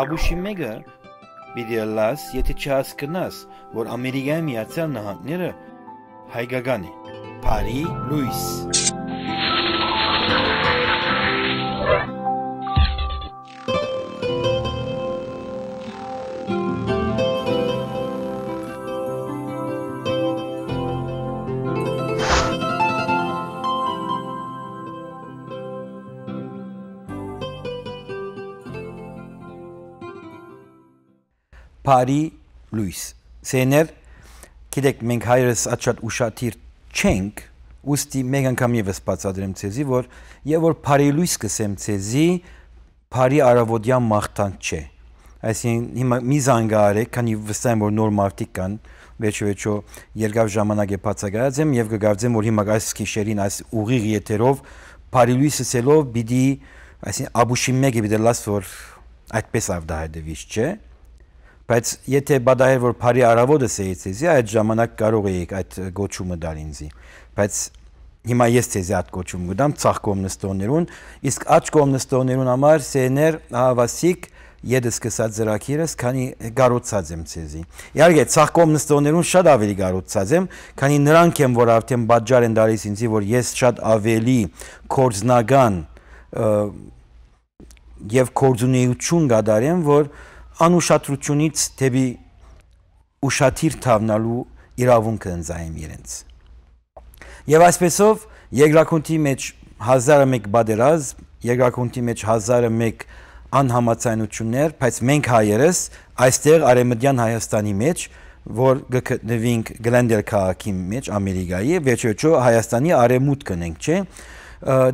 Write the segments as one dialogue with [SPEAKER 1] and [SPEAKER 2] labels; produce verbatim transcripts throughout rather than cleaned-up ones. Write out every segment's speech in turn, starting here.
[SPEAKER 1] Աբուշիմեգը պիտի լաս, եթե չհասկնաս, որ Ամերիկայի Միացյալ Նահանգները հայկական է, Փարի Լուիս։ Փարի Լուիս Սեներ գիտեք մենք հայրս աչատ ուշադիր չենք ուստի մեկ անգամ եւս բացատրեմ ցեզի որ եւ որ Փարի Լուիս կսեմ ցեզի Փարի արավոտյան մաղթանք չէ այսինքն հիմա մի զանգարեք քանի վստահ եմ որ նոր մարտիկ կան վերջո երկար ժամանակ է բացակայած եմ եւ կգարձեմ որ հիմա այս քիշերին այս ուղիղ եթերով Փարի Լուիսը սելով բիդի այսինքն Աբուշիմեգը բիդի լաս որ այդպես ավդահայտվիչ չէ բայց եթե բադահեր որ Փարի արավոտը սեյցեզի այդ ժամանակ կարող եք այդ գոչումը դալ ինձի բայց հիմա ես ցեզի այդ գոչում գտամ ցախ կոմնստոներուն իսկ աչ կոմնստոներուն համար սեներ հավասիկ եդս սկսած զրակիրս քանի գարոցած եմ ցեզի իհարկե ցախ կոմնստոներուն շատ ավելի գարոցած եմ քանի նրանք են որ արդեն բաժար են դալիս ինձի որ ես շատ ավելի կորձնական եւ կորձունեություն գադարեմ որ անուշադրությունից դեպի ուշադիր թավնալու իրավունքը ընձայեմ իրենց։ Եվ այսպեսով երկրակունթի մեջ հազարը մեկ բادرազմ, երկրակունթի մեջ հազարը մեկ անհամաձայնություններ, բայց մենք հայերս այստեղ Արևմտյան Հայաստանի մեջ, որ գտնվենք Գլենդեր քաղաքի մեջ Ամերիկայի, վերջո Հայաստանի արևմուտքն ենք, չէ՞։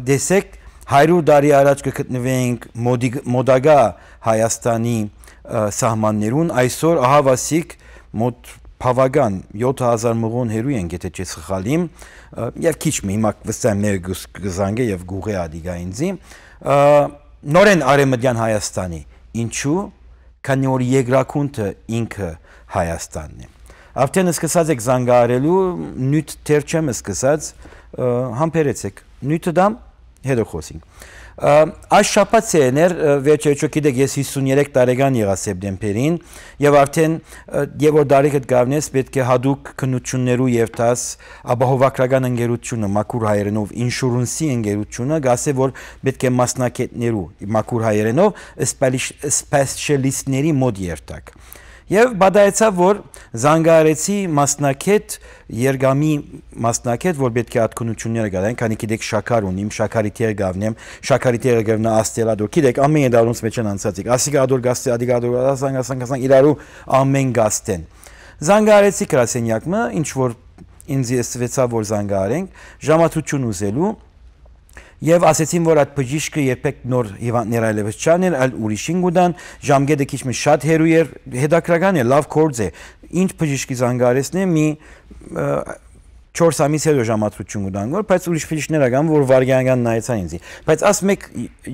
[SPEAKER 1] Դեսեք հարյուր տարի առաջ գտնվենք մոդագա Հայաստանի սահմաններուն այսօր ահավասիկ մոտ բավական յոթ հազար մղոն հերու են եթե չես խխալիմ եւ քիչ մի հիմա վստահ մեր գզանգե եւ գուղե ադիգա ինձի նորեն Արևմտյան Հայաստանի ինչու քանի որ երկրակունթը ինքը Հայաստանն է արդեն սկսած եք զանգարելու նյութ թեր չեմ սկսած համբերեցեք նյութը դամ հետո խոսենք Այս շաբաթներ վերջերիչո գիտեք ես հիսունյուրեք տարեկան եղա սեպտեմբերին եւ արդեն եւ որ դարիքդ գավնես պետք է հadoop քննություններու եւ տաս ապահովագրական ընկերությունը մաքուր հայերենով ինշուրենսի ընկերությունը գասե որ պետք է մասնակիցներու մաքուր հայերենով սպեսիալիստների մոտ երթակ Եվ բադայեցավ, որ զանգարեցի մասնակետ, երգամի մասնակետ, որ պետք է ատքունությունները գադային, քանի գիտեք շաքար ունիմ, շաքարի տեր գավնեմ, շաքարի տերը գավնա աստելադոր, գիտեք ամեն դարունց մեջ են անցածիկ, ասիկա ադոր գաստե, ադիկա ադոր, ասանք, ասանք, ասանք, իրարու ամեն գաստեն։ Զանգարեցի գրասենյակը, ինչ որ ինձ եսվեցավ, որ զանգարենք, ժամացություն ուզելու, Եվ ասեցին, որ այդ բժիշկը երբեք նոր հիվանդներ այլևս չաներ, այլ ուրիշին գուտան, ժամկետը քիչ մի շատ հերու էր, հետաքրական է, լավ գործ է։ Ինչ բժիշկի զանգարեցն է, մի չորս ամիս հետո ժամացություն գուտան, բայց ուրիշ բժիշկներ ական, որ վարգյանական նայեցան ինձի։ Բայց աս մեկ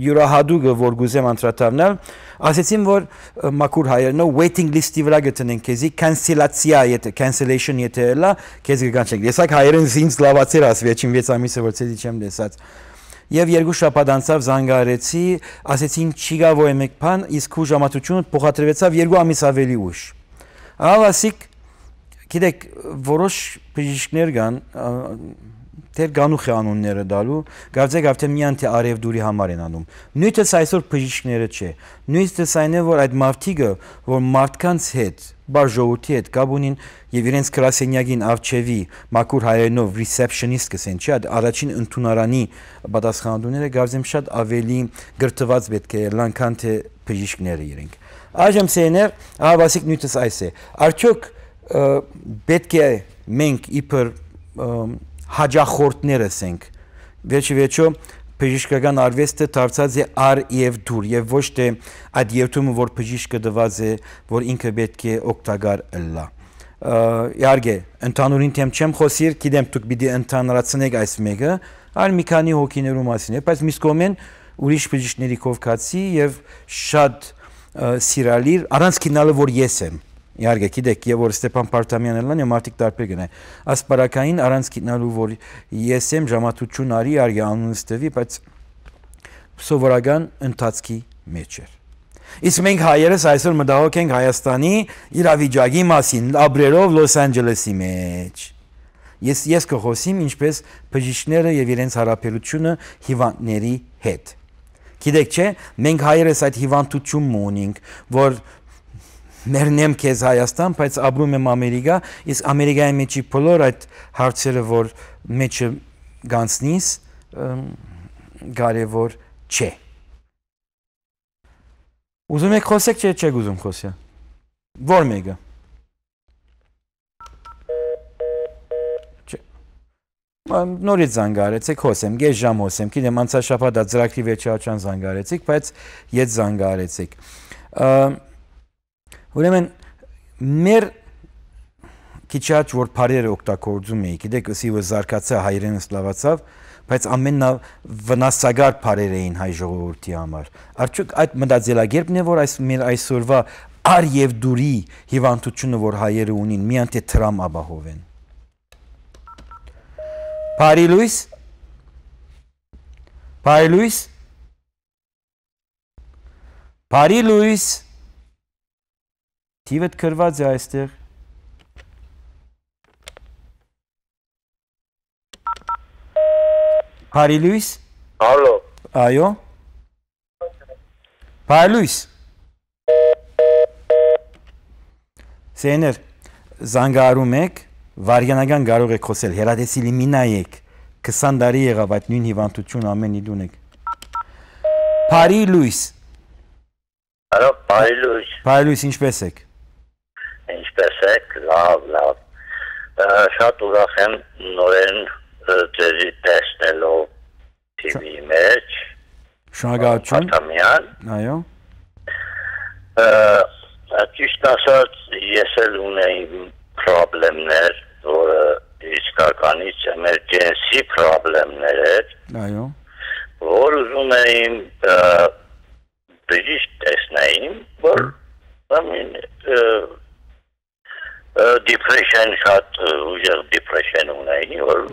[SPEAKER 1] յուրահատուկը, որ գուզեմ անդրադառնալ, ասեցին, որ մաքուր հայերենով waiting list-ի վրա գտնենք քեզի cancellation եթե cancellation եթե լա, քեզ կգանչենք։ Եսակ հայերեն ինձ լավացեր աս վերջին վեց ամիսը որ ցեզի չեմ տեսած։ Եվ երկու շաբաթ անցավ զանգարեցի, ասեցին չի գա որ եմեք բան, իսկ ու ժամացությունը փոխադրվեցավ երկու ամիս ավելի ուշ։ Ավասիկ, գիտեք, որոշ բժիշկներ կան, դեր գանուխ է անունները դալու, գարձեք արդեն միայն թե արևդուրի համար են անում։ Նույնպես այսօր բժիշկները չէ։ Նույնպես այն է, որ այդ մարդիկը, որ մարդկանց հետ, բաժողովի հետ կապ ունին եւ իրենց գրասենյակին արչեվի մաքուր հայերենով receptionist կսեն, չէ՞, առաջին ընդունարանի պատասխանատուները գարձեմ շատ ավելի գրթված պետք է լան քան թե բժիշկները իրենք։ Այժմ սեներ, ավասիկ նույնպես այս է։ Արդյոք պետք է մենք իբր հաջախորդներս ենք։ Վերջի վերջո բժշկական արվեստը դարձած է ար եւ դուր եւ ոչ թե այդ երթումը որ բժիշկը դված է որ ինքը պետք է օգտակար լա։ Իհարկե ընդհանուրին թեմ չեմ խոսիր, գիտեմ դուք պիտի ընդհանրացնեք այս մեկը, այլ մի քանի հոգիներու մասին է, բայց միս կողմեն ուրիշ բժիշկների կողքացի եւ շատ սիրալիր առանց քինալը որ ես եմ։ իհարկե գիտեք, եւ որ Ստեփան Պարտամյանն լան եւ մարդիկ տարբեր գնային ասպարակային առանց գիտնալու որ ես եմ ժամատություն արի արի անունս տվի բայց սովորական ընթացքի մեջ էր իսկ մենք հայերս այսօր մտահոգ ենք Հայաստանի իրավիճակի մասին լաբրերով Լոս Անջելեսի մեջ ես ես կխոսեմ ինչպես բժիշկները եւ իրենց հարաբերությունը հիվանդների հետ գիտեք չէ մենք հայերս այդ հիվանդությունն ունենք որ Մերնեմ քեզ Հայաստան, բայց ապրում եմ Ամերիկա, իսկ Ամերիկայի մեջի բոլոր այդ հարցերը, որ մեջը գանցնիս, կարևոր չէ։ Ուզում եք խոսեք, չէ, չեք ուզում խոսել։ Որ մեկը։ Չէ։ Նորից զանգարեցեք, խոսեմ, գեշ ժամ խոսեմ, գիտեմ անցած շաբաթ ծրագրի վերջի աչան զանգարեցիք, բայց ետ զանգարեցիք։ Ուրեմն մեր քիչաչ որ բարերը օգտագործում էի, գիտեք, ըսիվը զարգացա հայերենը սլավացավ, բայց ամենա վնասագար բարեր էին հայ ժողովրդի համար։ Արդյոք այդ մտածելակերպն է, որ այս մեր այսօրվա ար եւ դուրի հիվանդությունը, որ հայերը ունին, միայն թե տրամ ապահովեն։ Բարի լույս։ Բարի լույս։ Բարի լույս։ Թիվդ կրված է այստեղ։ Բարի լույս։
[SPEAKER 2] Ալո։
[SPEAKER 1] Այո։ Բարի լույս։ Սեներ, զանգարում եք, վարյանական կարող եք խոսել, հերադեսիլի մի նայեք, քսան տարի եղավ այդ նույն հիվանդություն ամեն իդ ունեք։ Բարի լույս։
[SPEAKER 2] Ալո, բարի լույս։
[SPEAKER 1] Բարի լույս, ինչպես եք։
[SPEAKER 2] Ինչպես եք, լավ, լավ։ Շատ ուրախ եմ նորեն ձեզի տեսնելով թիվի մեջ։
[SPEAKER 1] Շնորհակալություն։
[SPEAKER 2] Պարտամյան։
[SPEAKER 1] Այո։
[SPEAKER 2] Ճիշտ ասած, ես էլ ունեի պրոբլեմներ, որը իսկականից էմերջենսի պրոբլեմներ էր։
[SPEAKER 1] Այո։
[SPEAKER 2] Որ ուզում էին բժիշկ տեսնեին, որ depression շատ ուժեղ depression ունեի, որ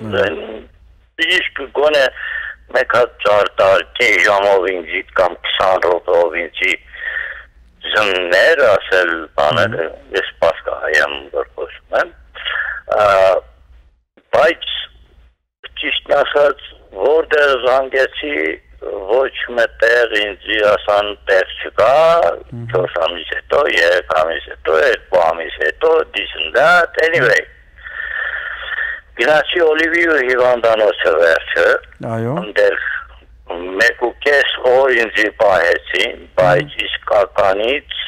[SPEAKER 2] բժիշկ գոնե մեկ հատ ճարտար կես ժամով ինձի կամ քսան րոպեով ինձի զններ ասել բաները, ես պասկահայ եմ որ խոսում եմ, բայց ճիշտ ասած, որտեղ զանգեցի ոչ մտեղ ինձի ասան տեղ չկա, չորս ամիս հետո, երեք ամիս հետո, երկու ամիս հետո, this and that, anyway։ Գնացի Օլիվիու հիվանդանոցը վերջը, ընդեր մեկ ու կես օր ինձի պահեցին, բայց իսկականից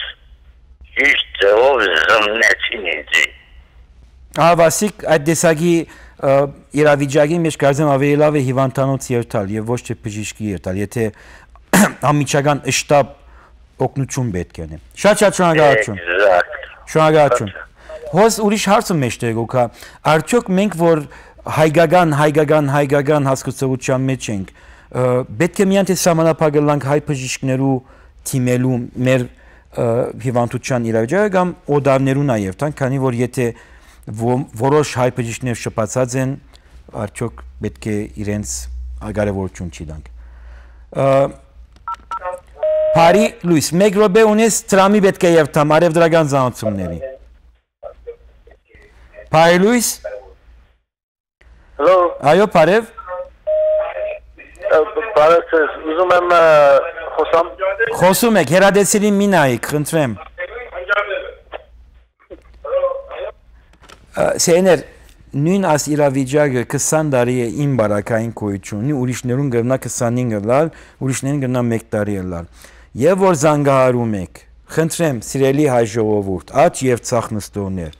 [SPEAKER 2] ճիշտ ձևով զմնեցին ինձի։
[SPEAKER 1] Ավասիկ այդ դեսագի իրավիճակի մեջ կարծեմ ավելի լավ է հիվանդանոց երթալ եւ ոչ թե բժիշկի երթալ, եթե ամիջական շտաբ օգնություն պետք է։ Շատ-շատ շնորհակալություն։ Շնորհակալություն։ Հոս ուրիշ հարցը մեջտեղ ուքա, արդյոք մենք որ հայկական, հայկական, հայկական հասկացության մեջ ենք, պետք է միայն թե սահմանափակելանք հայ բժիշկներու թիմելու մեր հիվանդության իրավիճակը կամ օդարներու նաեւ տան, քանի որ եթե որոշ հայ բժիշկներ շփացած են, արդյոք պետք է իրենց կարևորություն չի տանք։ Բարի լույս, մեկ րոպե ունես տրամի պետք է երթամ արևդրական ծանոթությունների։ Բարի լույս։
[SPEAKER 2] Հալո։
[SPEAKER 1] Այո, բարև։
[SPEAKER 2] Բարև, ուզում եմ խոսամ։
[SPEAKER 1] Խոսում եք, հերադեսիլի մի նայեք, խնդրեմ։ Սեներ, նույն աս իրավիճակը քսան տարի է իմ բարակային գոյություն ունի, ուրիշներուն գտնա քսանինը լալ, ուրիշներուն գտնա մեկ տարի լալ։ Եվ որ զանգահարում եք, խնդրեմ, սիրելի հայ ժողովուրդ, աճ եւ ցախ նստողներ,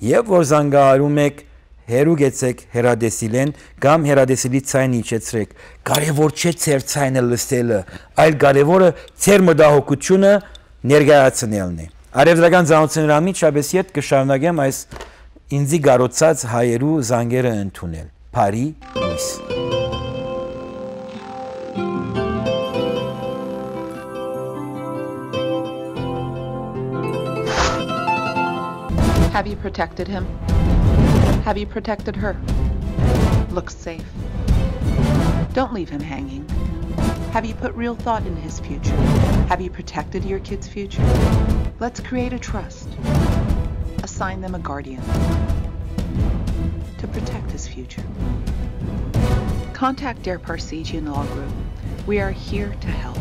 [SPEAKER 1] եւ որ զանգահարում եք, հերու գեցեք հերադեսիլեն կամ հերադեսիլի ցայն իջեցրեք։ Կարևոր չէ ձեր ցայնը լսելը, այլ կարևորը ձեր մտահոգությունը ներկայացնելն է։ Արևդրական ծանոթությունների մեջ շաբես ետ կշարունակեմ այս ինձի գարոցած հայերու զանգերը ընդունել։ Բարի լույս։
[SPEAKER 3] Have you protected him? Have you protected her? Looks safe. Don't leave him hanging. Have you put real thought in his future? Have you protected your kid's future? Let's create a trust. Assign them a guardian to protect his future. Contact Dare Parsegian Law Group. We are here to help.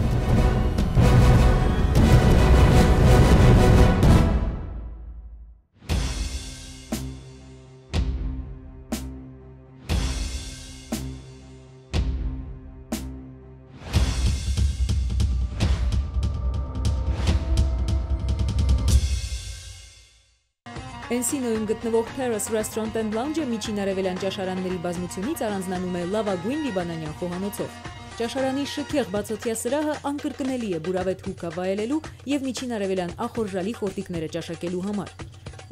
[SPEAKER 4] Էնսինոյում գտնվող Terrace Restaurant and Lounge-ը միջին արևելյան ճաշարանների բազմությունից առանձնանում է լավագույն լիբանանյան խոհանոցով։ Ճաշարանի շքեղ բացօթյա սրահը անկրկնելի է բուրավետ հուկա վայելելու եւ միջին արևելյան ախորժալի խորտիկները ճաշակելու համար։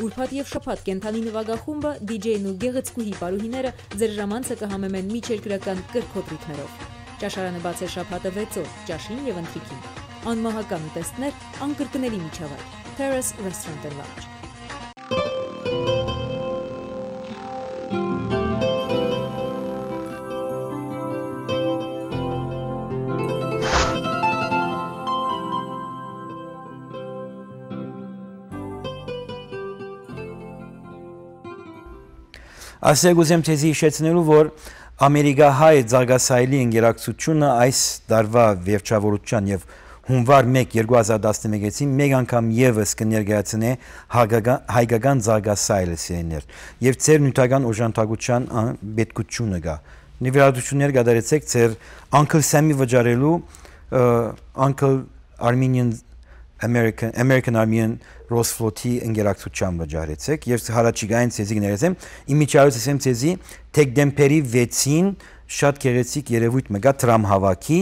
[SPEAKER 4] Ուրբաթ եւ շաբաթ կենթանի նվագախումբը, դիջեյն ու գեղեցկուհի պարուհիները ձեր ժամանցը կհամեմեն միջերկրական կրքոտ ռիթմերով։ Ճաշարանը բաց է շաբաթը վեց օր, ճաշին եւ ընթրիքին։ Անմահական ուտեստներ, անկրկնելի միջավայր։ Terrace Restaurant and Lounge։
[SPEAKER 1] Ասեք ուզեմ թեզի հիշեցնելու, որ ամերիկահայ զարգասայլի ընկերակցությունը այս դարվա վերջավորության եւ հունվար մեկ երկու հազար տասնմեկի մեկ անգամ եւս կներկայացնե հայկական զարգասայլը սերներ եւ ձեր նյութական օժանդակության պետքությունը գա։ Նվիրատություններ կատարեցեք ձեր Uncle Sammy վճարելու Uncle Armenian American American Armenian Rose Float-ի ընկերակցությամբ վճարեցեք եւ հարաճիգային ցեզի գներեցեմ իմիջիայից ասեմ ցեզի թեկդեմպերի վեցին շատ գեղեցիկ երևույթ մգա տրամ հավաքի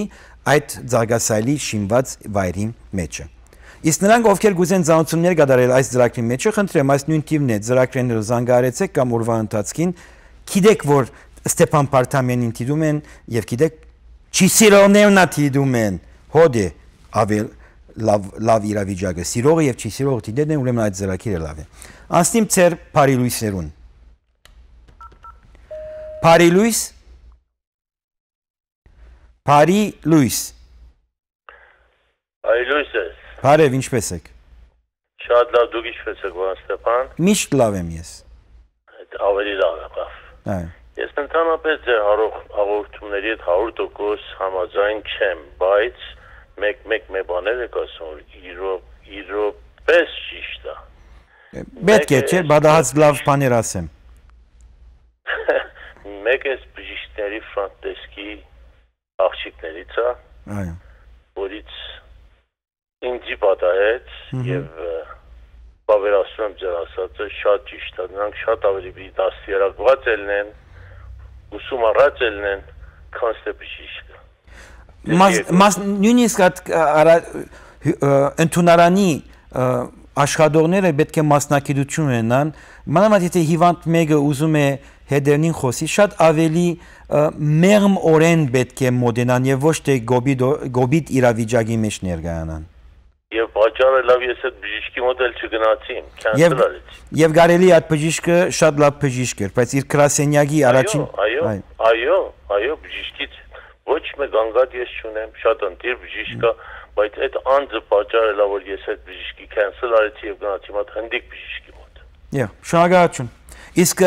[SPEAKER 1] այդ զարգասայլի շինված վայրի մեջը իսկ նրանք ովքեր գուզեն զանություններ կատարել այս ծրագրի մեջը խնդրեմ այս նույն թիվն է ծրագրերը զանգահարեցեք կամ օրվա ընթացքին գիտեք որ Ստեփան Պարտամյանին դիտում են եւ գիտեք Չիսիրոնևնա դիտում են հոդե ավել լավ լավ իրավիճակը սիրողը եւ չի սիրողը դիտեն են ուրեմն այդ ծրագիրը լավ է անստիմ ծեր Փարի լույսերուն Փարի լույս Փարի լույս
[SPEAKER 5] Փարի լույս
[SPEAKER 1] Բարև ինչպես եք
[SPEAKER 5] Շատ լավ դուք ինչպես եք պարոն Ստեփան
[SPEAKER 1] Միշտ լավ եմ ես
[SPEAKER 5] Ավելի լավ է բավ
[SPEAKER 1] Այո
[SPEAKER 5] Ես ընդհանրապես ձեր հաղորդումների հետ հարյուր տոկոս համաձայն չեմ բայց մեկ-մեկ մի բաներ եք ասում, իրոպես ճիշտ է։
[SPEAKER 1] Պետք է, չէ, բադահաց լավ բաներ ասեմ։
[SPEAKER 5] Մեկ էս բժիշկների ֆրանտեսկի աղջիկներից է, որից ինձի պատահեց և բավերասում եմ ձեր ասածը շատ ճիշտ է, նրանք շատ ավելի դաստիարակված ելնեն, ուսումնառած ելնեն, քան ստե բժիշկը։
[SPEAKER 1] Նույնիսկ ընդունարանի աշխատողները պետք է մասնակցություն ունենան, մանավանդ եթե հիվանդ մեկը ուզում է հետերնին խոսի, շատ ավելի մեղմ օրեն պետք է մոտենան եւ ոչ թե գոբիտ իրավիճակի մեջ ներկայանան։
[SPEAKER 5] Եվ պատճառը լավ ես այդ բժիշկի մոտ էլ չգնացի, քանսել արեցի։
[SPEAKER 1] Եվ կարելի այդ բժիշկը շատ լավ բժիշկ էր, բայց իր գրասենյակի առաջին
[SPEAKER 5] Այո, այո, այո, բժիշկից ոչ մեկ անգամ ես չունեմ, շատ ընտիր բժիշկ կա, բայց այդ անձը պատճառը լավ որ ես այդ բժիշկի քանսել արեցի եւ գնացի մոտ հնդիկ բժիշկի մոտ։ Եա,
[SPEAKER 1] շնորհակալություն։ Իսկ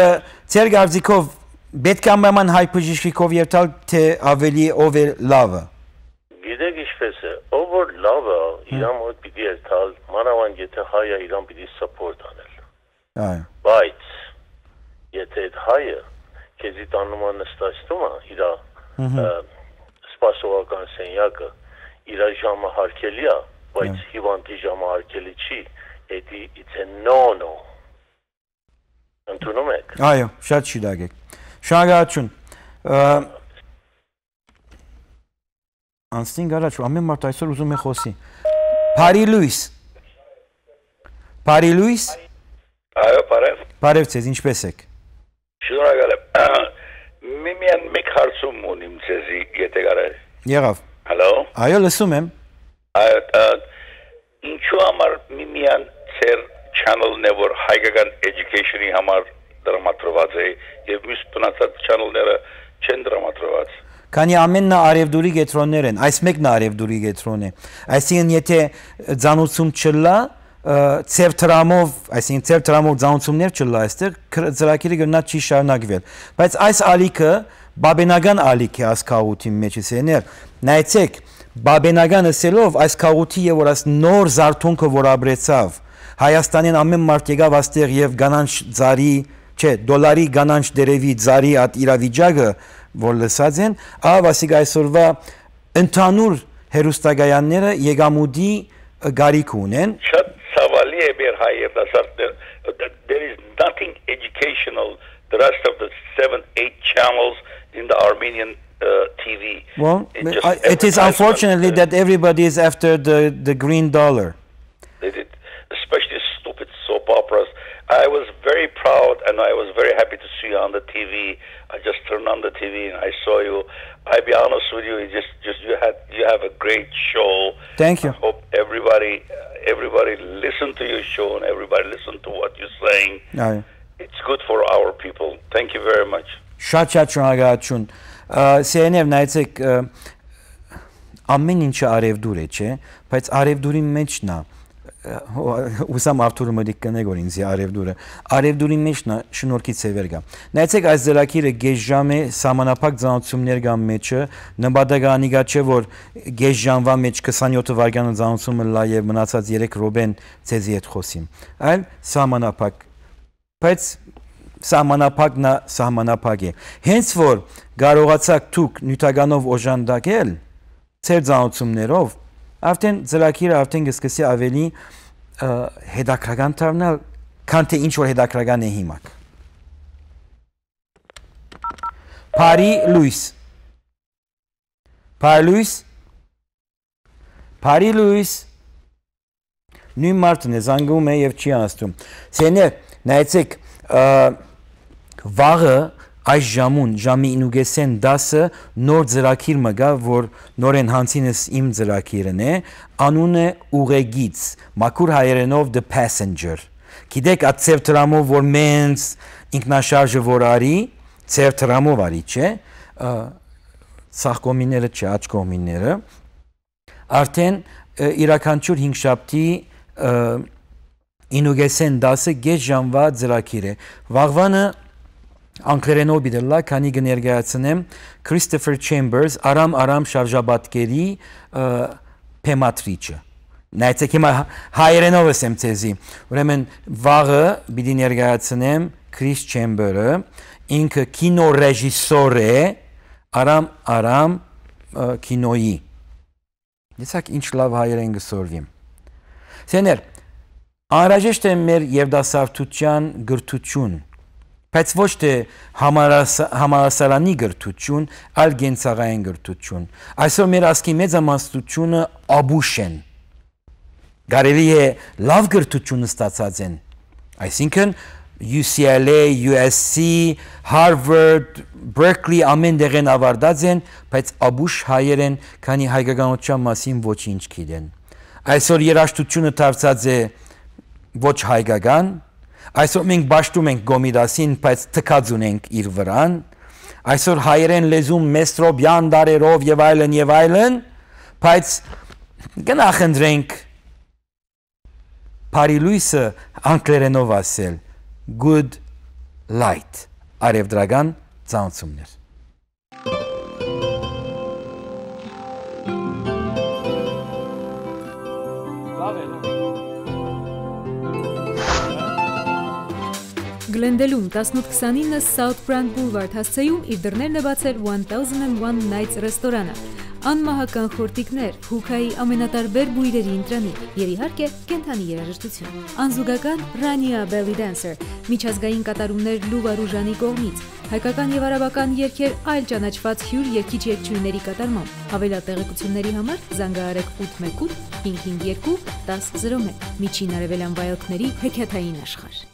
[SPEAKER 1] ձեր գարձիկով պետք է ամենայն հայ բժիշկով երթալ թե ավելի ով է լավը։
[SPEAKER 5] Գիտեք ինչպես է, ով որ լավը իրան մոտ պիտի երթալ, մանավանդ եթե հայ է իրան պիտի սապորտ անել։
[SPEAKER 1] Այո։
[SPEAKER 5] Բայց եթե այդ հայը քեզի տանում է նստացնում է իրա սպասողական սենյակը իր ժամը հարկելի է, բայց հիվանդի ժամը հարկելի չի, դա it's a no-no։ Ընդունում եք։
[SPEAKER 1] Այո, շատ շիրակ եք։ Շնորհակալություն։ Անստին գարաչ, ամեն մարդ այսօր ուզում է խոսի։ Փարի լույս։ Փարի լույս։
[SPEAKER 6] Այո, բարև։
[SPEAKER 1] Բարև ձեզ, ինչպես եք։
[SPEAKER 6] Շնորհակալ եմ։ Միմիան մեկ հարցում ունիմ ձեզի, եթե կարել։
[SPEAKER 1] Եղավ։
[SPEAKER 6] Հալո։
[SPEAKER 1] Այո, լսում եմ։
[SPEAKER 6] Այո, ինչու համար միմիան ծեր channel-ն է, որ հայկական education-ի համար դրամատրված է, եւ մյուս բնացած channel-ները չեն դրամատրված։
[SPEAKER 1] Քանի ամենն արևդուրի գետրոններ են, այս մեկն արևդուրի գետրոն է։ Այսինքն եթե ցանուցում չլա, ծեր տրամով, այսինքն ծեր տրամով ցանուցումներ չլա, այստեղ ծրագիրը գնա չի շարունակվել։ Բայց այս ալիքը բաբենական ալիք է այս քաղուտի մեջ էներ։ Նայեցեք, բաբենական ասելով այս քաղուտի եւ որ այս նոր զարթոնքը որ ապրեցավ, Հայաստանին ամեն մարդ եկավ այստեղ եւ գանանչ ծարի, չէ, դոլարի գանանչ դերևի ծարի at իրավիճակը որ լսած են, ավասիկ այսօրվա ընդհանուր հերոստագայանները եկամուտի գարիք ունեն։
[SPEAKER 6] Շատ ցավալի է մեր հայ երիտասարդներ, there is nothing educational the rest of the seven eight channels in the Armenian uh, T V.
[SPEAKER 1] Well, it is unfortunately that everybody is after the the green dollar.
[SPEAKER 6] They did, especially stupid soap operas. I was very proud and I was very happy to see you on the T V. I just turned on the T V and I saw you. I'll be honest with you, you just, just you had, you have a great show.
[SPEAKER 1] Thank you.
[SPEAKER 6] I hope everybody, everybody listen to your show and everybody listen to what you're saying.
[SPEAKER 1] Aye.
[SPEAKER 6] It's good for our people. Thank you very much.
[SPEAKER 1] Շատ շատ շնորհակալություն։ Սերներ նայեցեք ամեն ինչը արևդուր է, չէ՞, բայց արևդուրի մեջն է Ուսամ Արթուրը մտիկ կնե որ ինձ արևդուրը արևդուրի մեջն է շնորհքից է վերգա նայեցեք այս ձեռակիրը գեժ ժամ է սահմանափակ ծանոթություններ կան մեջը նպատականի գա չէ որ գեժ ժամվա մեջ քսանյոթ վայրկյանը ծանոթությունը լա եւ մնացած երեք րոպեն ցեզի հետ խոսիմ այլ սահմանափակ բայց սահմանափակն է սահմանափակ է հենց որ կարողացաք դուք նյութականով օժանդակել ծեր ծանոթություններով Արդեն ձեռակիրը արդեն կսկսի ավելի հետաքրական դառնալ, քան թե ինչ որ հետաքրական է հիմա։ Փարի լույս։ Փարի լույս։ Փարի լույս։ Նույն մարդն է զանգում է եւ չի անցնում։ Սեներ, նայեցեք, վաղը այս ժամուն ժամի ինուգեսեն դասը նոր ձրակիր մգա որ նորեն հանցինս իմ ձրակիրն է անունը ուղեգից մաքուր հայերենով the passenger գիտեք այդ ծեր տրամով որ մենց ինքնաշարժը որ արի ծեր տրամով արի չէ ցախ կոմիները չէ աչ կոմիները արդեն իրականչուր հինգ շաբթի ինուգեսեն դասը գեջ ժամվա ձրակիր է վաղվանը Անկլերենով բիդելլա, քանի կներկայացնեմ Christopher Chambers արամ արամ շարժաբատկերի փեմատրիչը։ Նայեցեք հիմա հայերենով եմ ցեզի։ Ուրեմն վաղը պիտի ներկայացնեմ Chris Chambers-ը, ինքը կինոռեժիսոր է արամ արամ կինոյի։ Դեսակ ինչ լավ հայերեն գսորվի։ Սեներ, անհրաժեշտ է մեր երդասարտության գրթություն Բայց ոչ թե համալսարանի գրթություն, այլ գենցաղային գրթություն։ Այսօր մեր ասկի մեծամասնությունը աբուշ են։ Կարելի է լավ գրթություն ստացած են։ Այսինքն U C L A, U S C, Harvard, Berkeley ամեն դեղ են ավարտած են, բայց աբուշ հայեր են, քանի հայկականության մասին ոչինչ գիտեն։ Այսօր երաժշտությունը դարձած է ոչ հայկական Այսօր մենք բաշտում ենք գոմիդասին, բայց թքած ունենք իր վրան, այսօր հայերեն լեզում մեստրոբյան դարերով եւ այլն եւ այլն, բայց գնախնդրենք Փարի լույսը անգլերենով ասել good light, արևդրական ծանոթություններ
[SPEAKER 4] Գլենդելում տասնութ քսանինը South Brand Boulevard հասցեում իր դռներն է բացել one thousand one Nights ռեստորանը։ Անմահական խորտիկներ, հուքայի ամենատարբեր բույրերի ընտրանիք եւ իհարկե կենթանի երաժշտություն։ Անզուգական Rania Belly Dancer, միջազգային կատարումներ Լուվա Ռուժանի կողմից, հայկական եւ արաբական երգեր այլ ճանաչված հյուր երգիչ երգչուհիների կատարմամբ։ Հավելյալ տեղեկությունների համար զանգահարեք ութ մեկ ութ հինգ հինգ երկու տասը զրո մեկ Միջին արևելյան վայելքների հեքիաթային աշխարհ։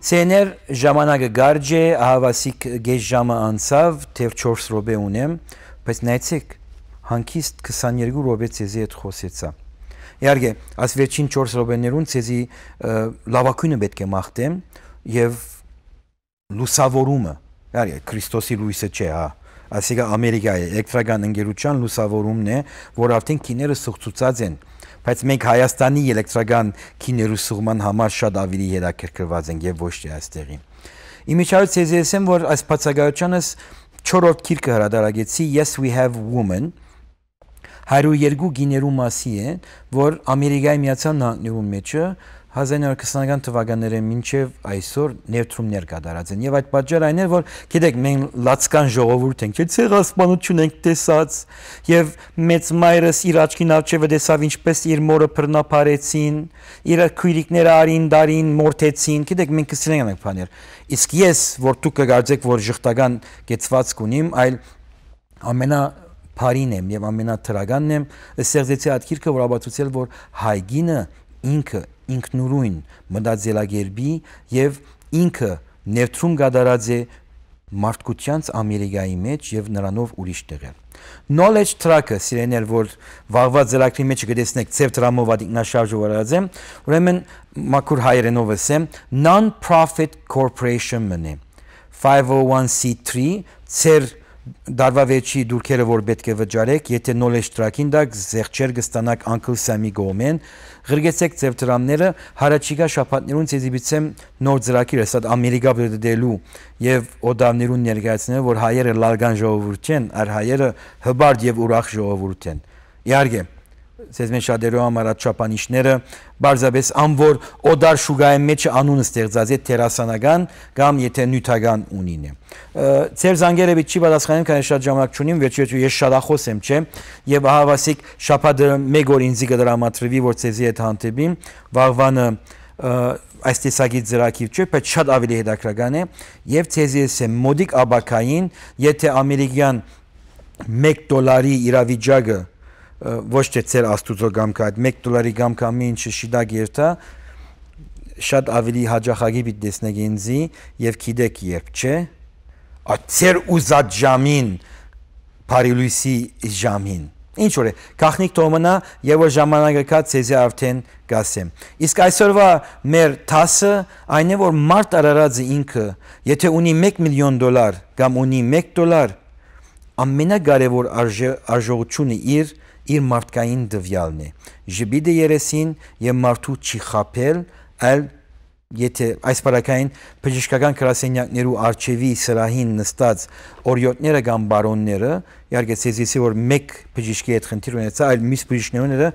[SPEAKER 1] Ցեներ ժամանակը գարջ է, ահավասիկ գեշ ժամը անցավ, թեև չորս րոպե ունեմ, բայց նայեցեք, հանկիստ քսաներկու րոպե ցեզի հետ խոսեցա։ Իհարկե, այս վերջին չորս րոպեներուն ցեզի լավակույնը պետք է մաղթեմ եւ լուսավորումը, իհարկե Քրիստոսի լույսը չէ, հա, այսինքն Ամերիկայի էլեկտրական ընկերության լուսավորումն է, որ արդեն քիները սուղծուցած են, բայց մենք Հայաստանի էլեկտրական քիներու սուղման համար շատ ավելի հետաքրքրված ենք եւ ոչ թե այստեղի։ Իմիջիայից ցեզի ասեմ, որ այս բացակայությանս չորրորդ գիրքը հրադարագեցի Yes We Have Woman հարյուր երկու գիներու մասի է, որ Ամերիկայի Միացյալ Նահանգներու մեջը հազար իննսուն քսանական թվականները մինչև այսօր ներդրումներ կատարած են եւ այդ պատճառը այն է որ գիտեք մենք լացկան ժողովուրդ ենք չէ ցեղասպանություն ենք տեսած եւ մեծ մայրս իր աչքին արջևը տեսավ ինչպես իր մորը բռնապարեցին իր քույրիկները արին դարին մորթեցին գիտեք մենք կսիրենք ենք բաներ իսկ ես որ դուք կգարձեք որ ժխտական կեցված կունիմ այլ ամենա Փարին եմ եւ ամենաթրականն եմ սերձեցի այդ գիրքը որ ապացուցել որ հայգինը ինքը ինքնուրույն մտածելակերպի եւ ինքը ներդրում կատարած է մարդկությանց Ամերիկայի մեջ եւ նրանով ուրիշ տեղեր knowledge tracker սիրեներ որ վաղված զելակրի մեջ կտեսնեք ծև դրամով ադիկնաշարժով արած եմ ուրեմն մաքուր հայերենով ասեմ non-profit corporation մնե five oh one c three ծեր Դարվա վերջի դուրքերը որ պետք է վճարեք, եթե knowledge track-ին դակ զեղչեր կստանաք Uncle Sam-ի գոմեն, ղրգեցեք ձև դրամները, հարաճիգա շաբաթներուն ցեզի բիցեմ նոր ծրագիր է, սա Ամերիկա դելու եւ օդավներուն ներկայացնել, որ հայերը լալգան ժողովուրդ չեն, այլ հայերը հբարդ եւ ուրախ ժողովուրդ են։ Իհարկե, ցեզ մեջ շատերու համար աչափանիշները բարձաբես անոր օդար շուգայի մեջ անունը ստեղծած է տերասանական կամ եթե նյութական ունին է։ Ձեր զանգերը պիտի պատասխանեմ, քանի շատ ժամանակ չունիմ, վերջիվերջո ես շատախոս եմ, չէ, եւ ահավասիկ շաբաթը մեկ օր ինձ կդրամատրվի, որ ցեզի հետ հանդիպիմ, վաղվանը այս տեսակի ծրագիր չէ, բայց շատ ավելի հետաքրքրական է եւ ցեզի եմ մոդիկ աբակային, եթե ամերիկյան մեկ դոլարի իրավիճակը ոչ թե ծեր աստուծո գամքը այդ մեկ դոլարի գամքը ամեն ինչը շիդակ երթա շատ ավելի հաջախագի պիտի տեսնեք ինձի եւ գիտեք երբ չէ այդ ծեր ուզած ժամին Փարիլույսի ժամին ինչ որ է քախնիկ թոմնա եւ որ ժամանակը կա ցեզի արդեն գասեմ իսկ այսօրվա մեր տասը այն է որ մարդ արարածը ինքը եթե ունի մեկ միլիոն դոլար կամ ունի մեկ դոլար ամենակարևոր արժողությունը իր իր մարդկային դվյալն է ժբիդը երեսին եւ մարդու չի խապել այլ եթե այս բարակային բժշկական գրասենյակներու արչեվի սրահին նստած օրիոտները կամ բարոնները իհարկե ցեզիսի որ մեկ բժշկի հետ խնդիր ունեցա այլ մյուս բժիշկները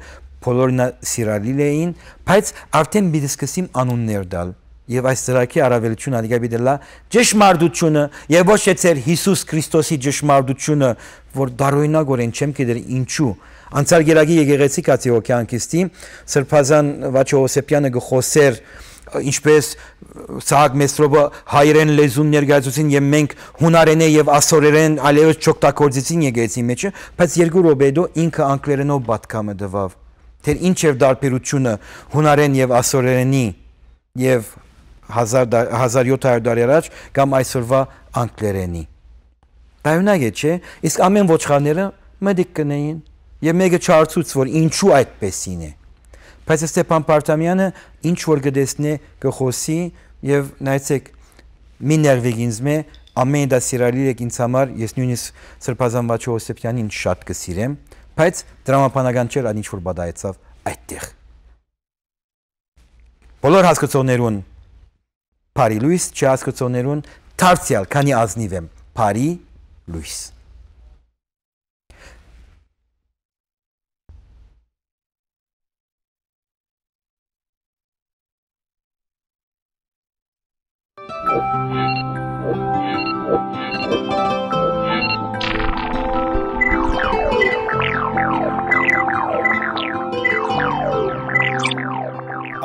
[SPEAKER 1] բոլորն սիրալիր էին բայց արդեն պիտի սկսեմ անուններ տալ եւ այս ծրագիրի առավելությունը ալիգա բիդելա ճշմարտությունը եւ ոչ թե ծեր Հիսուս Քրիստոսի ճշմարտությունը որ դարօրինակորեն չեմ գիտեր ինչու անցյալ գերագի եկեղեցի կաթողիկյանքիստի Սրբազան Վաչոհոսեփյանը գխոսեր ինչպես Սահակ Մեսրոբը հայերեն լեզուն ներկայացուցին եւ մենք հունարենե եւ ասորերեն allեւս չօգտագործեցին եկեղեցի մեջը բայց երկու րոպեդո ինքը անգլերենով պատկամը դվավ թե ինչ եւ դարբերությունը հունարեն եւ ասորերենի եւ հազար յոթ հարյուր տարի առաջ կամ այսօրվա անգլերենի Պայունակ է չէ իսկ ամեն ոչխարները մտիկ կնեին եւ մեկը չարծուց որ ինչու այդպեսին է բայց Ստեփան Պարտամյանը ինչ որ գտեսնե գխոսի եւ նայեցեք մի ներվեգինզմե ամեն դա սիրալիր եք ինձ համար ես նույնիսկ Սրբազան Վաչոհոսեփյանին շատ կսիրեմ բայց դրամապանական չէր այն ինչ որ բադայեցավ այդտեղ բոլոր հասկացողներուն Փարի լույս չհասկացողներուն դարձյալ քանի ազնիվ եմ Փարի լույս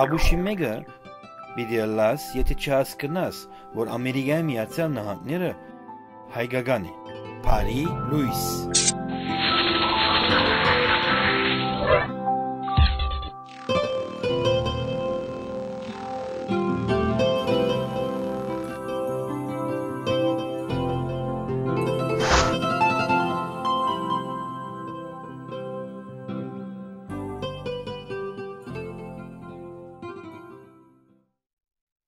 [SPEAKER 1] Աբուշիմեգը պիտի լաս, եթե չհասկնաս, որ Ամերիկայի Միացյալ Նահանգները հայկական է, Փարի լույս։